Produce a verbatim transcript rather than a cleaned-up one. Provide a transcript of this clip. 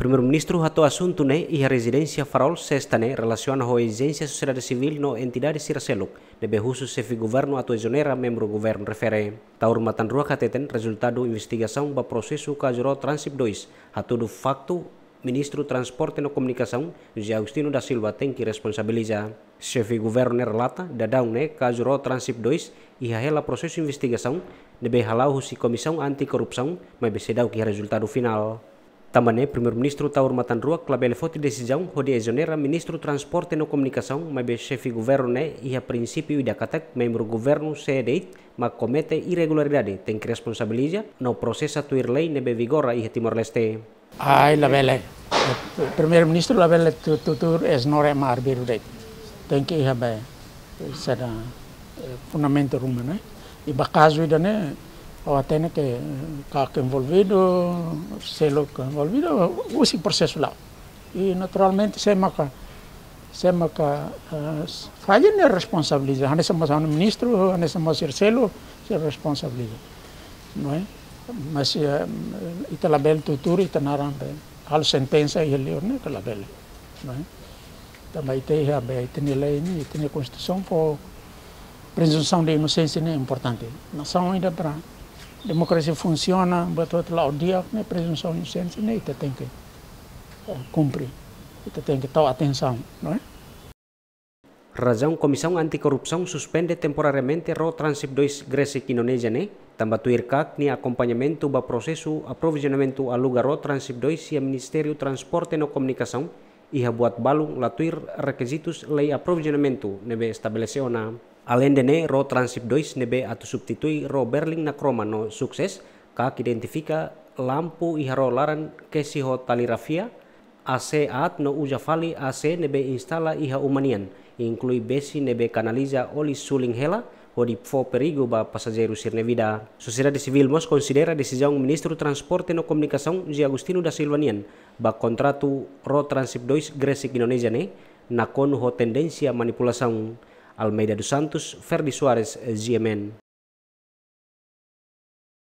Primeiru-Ministru hato'o asuntu ne'e iha rezidénsia Farol, Sesta ne'e, relasiona ho ezijénsia sosiedade sivíl no entidade sira seluk ne'ebé husu xefe governu atu ezonera membru governu refere. Taur Matan Ruak hateten rezultadu investigasaun ba prosesu kazu ró Transip dois hatudu faktu Ministru Transporte no Komunikasaun, José Agostinho da Silva, tenke responsabiliza. Xefe governu ne'e relata, daudaun ne'e kazu ró Transip dois iha hela prosesu investigasaun ne'ebé hala'o husi Komisaun Anti-Korrupsaun, maibé seidauk iha rezultadu finál. Tanba ne'e, Primeiru-Ministru Taur Matan Ruak labele foti desizaun hodi ezonera Ministru Transporte no Komunikasaun, maibé xefe governu ne'e iha prinsípiu ida katak membru governu sé de'it mak komete irregularidade tenke responsabiliza no prosesa tuir lei ne'ebé vigora iha Timor-Leste. Ai, labele. Primeiru-Ministru labele tu-, tutur ezonera ema arbiru de'it. Tenke iha be, saida, eh, fundamentu ruma, ne'e? I ba kazu ida-ne'e, ha'u hatene ke, eh, KAK envolvidu, seluk envolvidu, husi prosesu la'o. I naturalmente, sé maka, sé maka, eh, falla ne'e responsabiliza. Hanesan mós ministru, hanesan mós sira seluk, sira responsabiliza. Não é? Mas, eh, ita labele tutur ita-nia naran be halo sentensa iha liur ne'e, ita labele. Não é? Tanba ita iha be, ita-nia lei ne'e, ita-nia Konstituisaun fó prezunsaun de inosénsia ne'e importante. Nasaun ida para demokrasia funsiona, buat hotu la'o di'ak ne'e, prezunsaun de inosénsia ne'e ita tenke, eh, kumpre. Ita tenke tau atensaun, não é? Razaun Komisaun Anti-Korrupsaun suspende temporariamente ró Transip dois Gresik Indonézia ne'e, tanba tuir KAK nia akompañamentu ba prosesu aprovizionamentu aluga ró Transip dois iha Ministériu Transporte no Komunikasaun, iha buat balun la tuir rekizitus lei aprovizionamentu ne'ebé estabelese ona. Aleinde ne'e, ró Transip dois ne'ebé atu substitui ró Berlin na Kroma no Sukses, KAK identifika lampu iha ró laran kesi ho tali rafia, AC aat no uza fali AC ne'ebé instala iha uma nian, inklui besi ne'ebé kanaliza oli sulin hela, hodi fó perigu ba pasajeiru sira-nia vida. Sosiedade sivíl mós konsidera desizaun Ministru Transporte no Komunikasaun, José Agostinho da Silva nian, ba kontratu ró Transip dois Gresik Indonézia ne'e, nakonu ho tendénsia manipulasaun. Almeida dos Santos, Ferdi Soares, G M N.